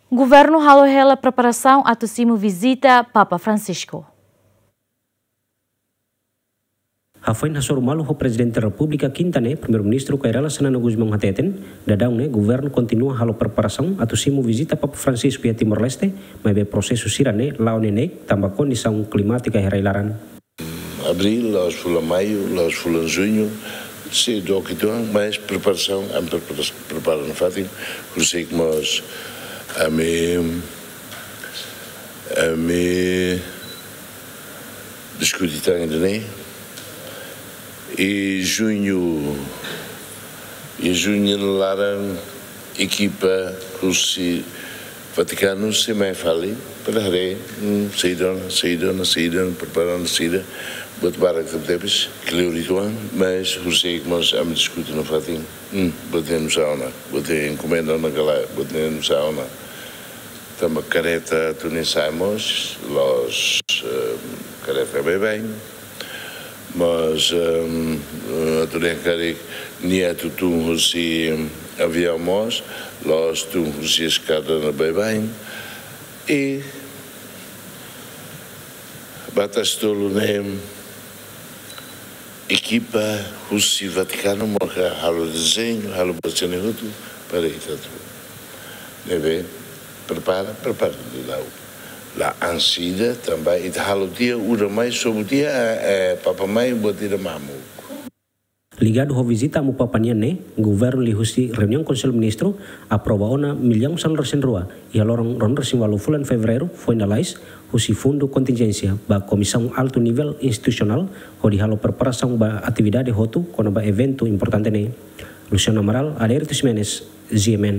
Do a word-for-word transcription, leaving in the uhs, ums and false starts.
Governu halo hela preparasaun atu simu vizita Papa Francisco. Hafoin hasoru malu ho Prezidente Repúblika kinta ne'e, Primeiru-Ministru Kay Rala Xanana Gusmão hateten, daudaun ne'e governu kontinua halo preparasaun atu simu vizita Papa Francisco iha Timor-Leste, maibé prosesu sira-ne'e la'o neineik tanba kondisaun klimátika iha rai-laran. Abríl, la'ós fulan maiu, la'ós fulan juñu, sei dook uitoan, mas preparasaun, ami prepara, prepara nafatin, horiseik mós ami, ami diskute tan ida-ne'e. I juñu, i juñu nia laran ekipa husi Vatikanu sei mai fali, para haree, hmm, saida ona, saida ona, saida ona, prepara ona, saida, buat barak tebetebes, kleur uitoan, mas horiseik mós ami diskute nafatin, hmm, buat ne'e nusá ona, buat ne'e enkomenda ona ka lae, buat ne'e nusá ona. Tanba kareta atu nia sa'e mós, la'ós, eh, kareta baibain. Mas, em, eh, atu dehan karik nia atu tun husi aviaun mós, la'ós tun husi eskada ne'ebé baibain. I ba tasi tolu ne'e ekipa husi Vatikanu maka halo dezeñu, halo buat sira-ne'e hotu para ita atu. Ne'ebé prepara, prepara duni la'o. La ansida tanba ita halo tiha, udan mai, sobu tiha, eh, eh, Papa mai, buat ida mamuk. Ligadu ho vizita Amu Papa nian ne'e, governu liuhusi reuniaun Konsellu Ministru aprova ona millaun sanulu-resin-rua iha loron ruanulu-resin-ualu fulan Fevereiru foin lalais husi fundu kontinjénsia ba Komisaun Altu Nivel Institusionál hodi halo preparasaun ba atividade hotu kona-ba eventu importante ne'e. Luciano Amaral, Adérito Ximenes, G M N.